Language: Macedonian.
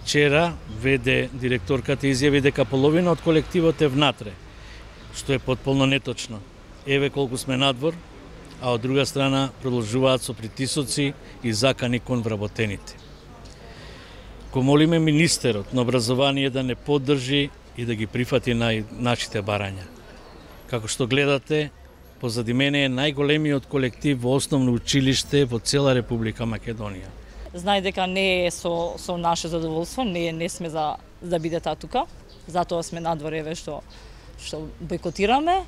Вчера директорката изјави дека половина од колективот е внатре, што е потполно неточно. Еве колку сме надвор, а од друга страна продолжуваат со притисоци и закани кон вработените. Го молиме министерот на образование да не поддржи и да ги прифати нашите барања. Како што гледате, позади мене е најголемиот колектив во основно училиште во цела Република Македонија. Знај дека не е со наше задоволство, не сме за да биде тука, затоа сме надвор, еве што бойкотираме.